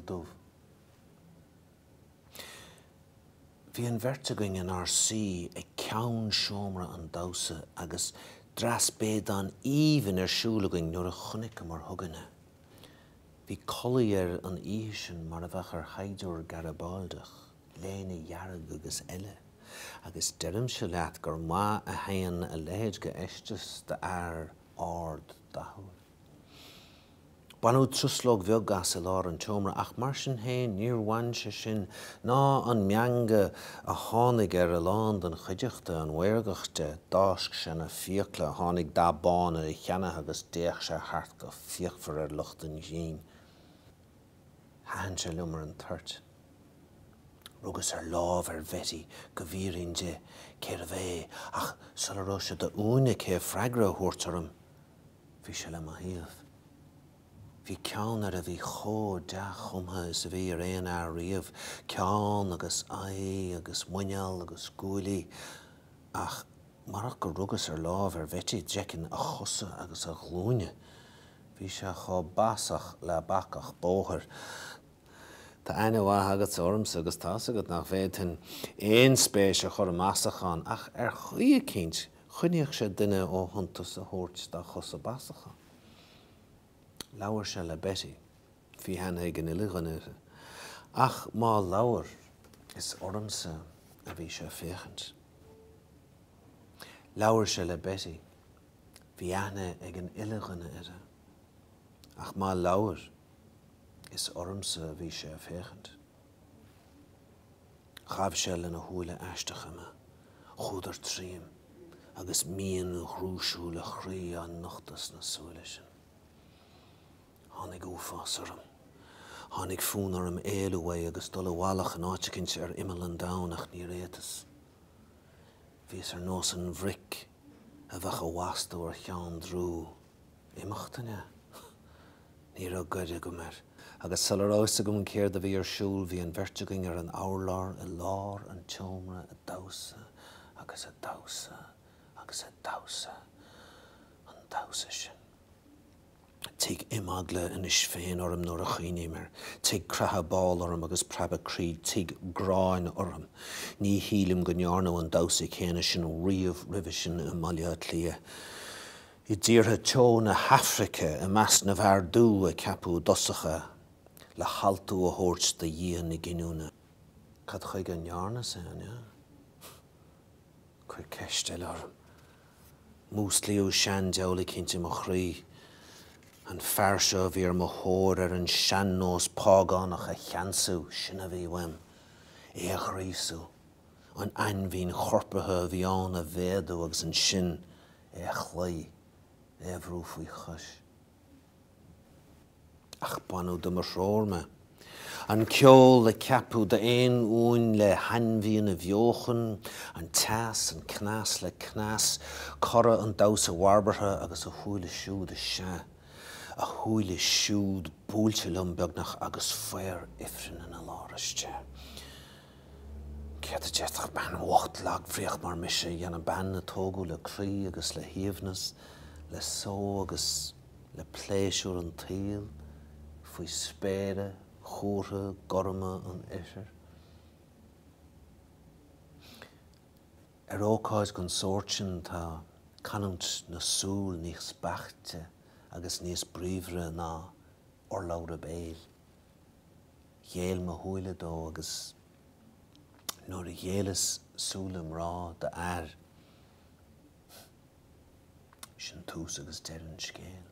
dubh. Bhí an bheirt againn inár suí ag ceann seomra an damhsa agus dreas béadáin aoibhinn ar siúl againn nuair a chonaiceamar chugainn é. Bhí culaith air an oíche sin mar a bheadh ar shaighdiúir Garibáldeach, léine dhearg agus eile, agus deirimse leat gur maith a théann a leithéid de fheisteas d'fhear ard dathúil. Baineadh truslóg bheag as i lár an tseomra ach mar sin féin níor bhain sé sin ná an meangadh a tháinig ar a lán den chuideachta an mhaorgacht de. D'fháisc sé na fiacla, tháinig dath bán ar a cheanna agus d'fhéach sé thart go fíochmhar ar lucht an ghrinn. Thaitin sé liom ar an toirt. Rugas ar láimh ar Bhetty go bhfiafraínn di cérbh é ach sula raibh sé d'uain aici freagra a thabhairt orm, Bhí sé le mo thaobh. Bhí ceann air a bhí chomh dea-chumtha is a bhí ar aon fhear riamh, ceann agus aghaidh agus muineál agus guaillí, ach marach gur rugas ar láimh ar Bhetty d'fheicfinn a chosa agus a ghlúine. Bhí sé chomh basach le bacach bóthair. Tá aithne mhaith agatsa ormsa agus tá's agat nach bhféadfainn aon spéis a chur i mbasachán, ach ar chaoi eicínt choinneodh sé duine ó shuntas a thabhairt dá chosa basacha. Labhair sé le Betty. Bhí aithne ag an uile dhuine uirthi. Ach má labhair, is ormsa a bhí sé ag féachaint. Labhair sé le Betty. Bhí aithne ag an uile dhuine uirthi. Ach má labhair, Is ormsa a bhí sé ag féachaint. Ghabh sé lena shúile aisteacha mé. Chuadar tríom, agus mian dhrúisiúil a chroí á nochtadh sna súile sin. Tháinig uafás orm. Tháinig fonn orm éalú uaidh agus dul i bhfalach in áit eicínt ar imeall an domhain ach níor fhéadas. Bhíos ar nós an bhric a bheadh á bhastú ar cheann drú. Imeacht, an ea? Ní raibh goir agam air. Agus sula raibh fhios agam céard a bhí ar siúl bhí an bheirt againn ar an urlár i lár an tseomra ag damhsa agus ag damhsa agus ag damhsa an damhsa sin. Tig imeagla anois féin orm nuair a chuimhním air. Tig creathadh bál orm agus preabadh croí. Tig gráin orm. Ní shílim go ndearnadh an damhsa céanna sin riamh roimhe sin i mBaile Átha Cliath. I dtíortha teo na hAfraice, i measc na bhfear dubh a ceapadh i dtosach é, le haltú a thabhairt do dhia na giniúna. Cad chuige a ndearnas é, an ea? Cuir ceist eile orm. Músclaíodh seandiabhal eicínt i mo chroí. An fear seo a bhí ar mo thóir ar an sean-nós págánach a cheansú, sin a bhí uaim. É a ghríosú. An ainmhian chorpartha a bhí ann a mhéadú agus ansin é a chloí, é a bhrú faoi chois. Ach baineadh de mo threoir mé. An ceol a ceapadh d'aon uain le hainmhian a bheochan, an teas, an cneas le cneas, cora an damhsa bharbartha agus a shúile siúd, is ea, a shúile siúd buailte liom beagnach agus faobhar ifrinn ina lár istigh. Céard a d'fhéadfadh bean bhocht lagbhríoch mar mise a dhéanamh, bean a tógadh le croí agus le haoibhneas, le só agus le pléisiúr an tsaoil, faoi spéire chumhartha gorma an oirthir? Ar ócáid den sórt sin tá canúint na súl níos beaichte agus níos bríomhaire ná urlabhra béil. Ghéill mo shúile dó agus nuair a ghéilleas súile mná d'fhear, sin tús agus deireadh an scéil.